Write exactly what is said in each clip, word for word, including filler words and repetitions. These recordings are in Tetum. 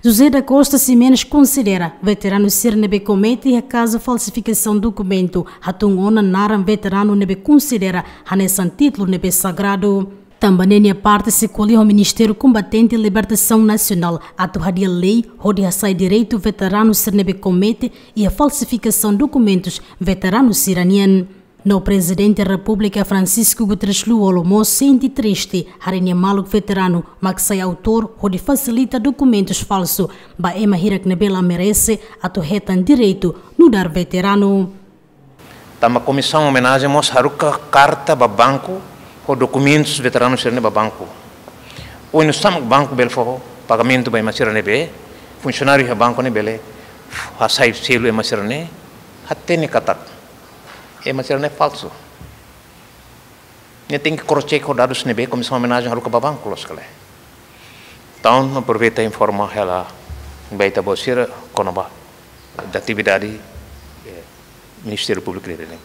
José da Costa Ximenes konsidera veteranu sira ne'ebé komete iha kazu falsifikasaun dokumentu hatún ona naran veteranu ne'ebé konsidera hanesan títulu ne'ebé sagradu. Tanba ne'e nia parte sei ko'alia ho Ministériu Kombatente Libertasaun Nasionál atu hadi'a lei hodi hasa'e direitu veteranu sira ne'ebé komete iha falsifikasaun dokumentus veteranu sira-nian. No Prezidente Repúblika Francisco Guterres Lú-Olo mós sente triste haree nia maluk veteranu mak sai autór hodi fasilita dokumentus falsu ba ema hirak ne'ebé la merese atu hetan direitu nu'udar veteranu. Tanba Komisaun Omenajen mós haruka karta ba banku ho dokumentus veteranu sira-ne'e ba banku. Oinsá mak banku bele fó pagamentu ba ema sira ne'ebé, funsionáriu iha banku ne'e bele hasai selu ema sira-ne'e, hatene katak ema sira-ne'e falsu. Ne'e tenke cross-check ho dadus ne'ebé Komisaun Omenajen haruka ba banku, loos ka lae? Entaun, aproveita informa hela ba ita-boot sira kona-ba atividade, eh, Ministériu Públiku ida-ne'e.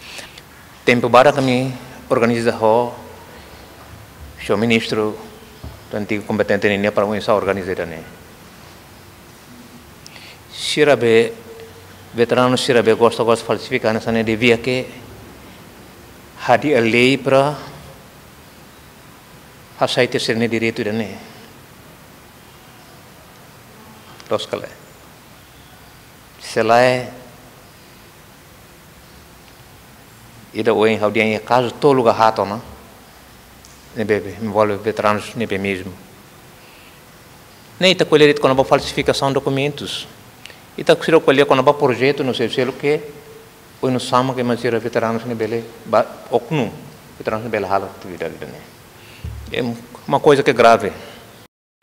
Tempu badak ami organiza ho señór ministru, antigu kombatente nian para oinsá organiza ida-ne'e. Sira be, veteranu sira be gosta, gosta falsifika hanesan ne'e, devia ke hadi'a lei para hasai tiha sira-nia direitu ida-ne'e. Loos ka lae? Se lae, ida ohin ha'u dehan iha kazu tolu ka haat ona ne'ebé envolve veteranus ne'ebé mezmu. Ne'e ita ko'alia de'it kona-ba falsifikasaun dokumentus. Ita seidauk ko'alia kona-ba projetu no seluk-seluk ke oinsá mak ema sira veteranus ne'e bele ba oknum, veteranus ne'e bele halo atividade ida-ne'e. É uma coisa que é grave.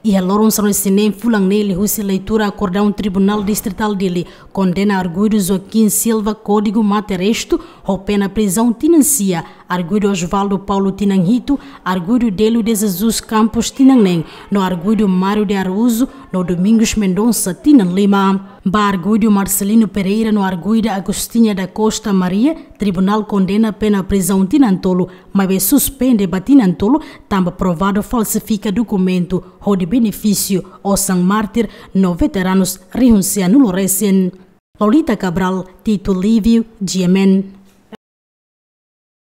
Iha loron sanulu-resin-neen fulan ne'e liuhusi leitura akordaun Tribunál Distritál Dili kondena arguidu Joaquim Silva kódigu mate-restu ho pena prizaun tinan sia, arguidu Osvaldo Paulo tinan hitu, arguidu Delio de Jesus Campos tinan neen, no arguidu Mário de Araújo no Domingos Mendonça tinan lima. Ba arguidu Marcelino Pereira no arguida Agostinha da Costa Maria, tribunál kondena pena prizaun tinan tolu, maibé suspende ba tinan tolu, tanba provadu falsifika dokumentu hodi benefísiu osan mártir no veteranus rihun sia-nulu resin. Lolita Cabral, Tito Lívio, G M N.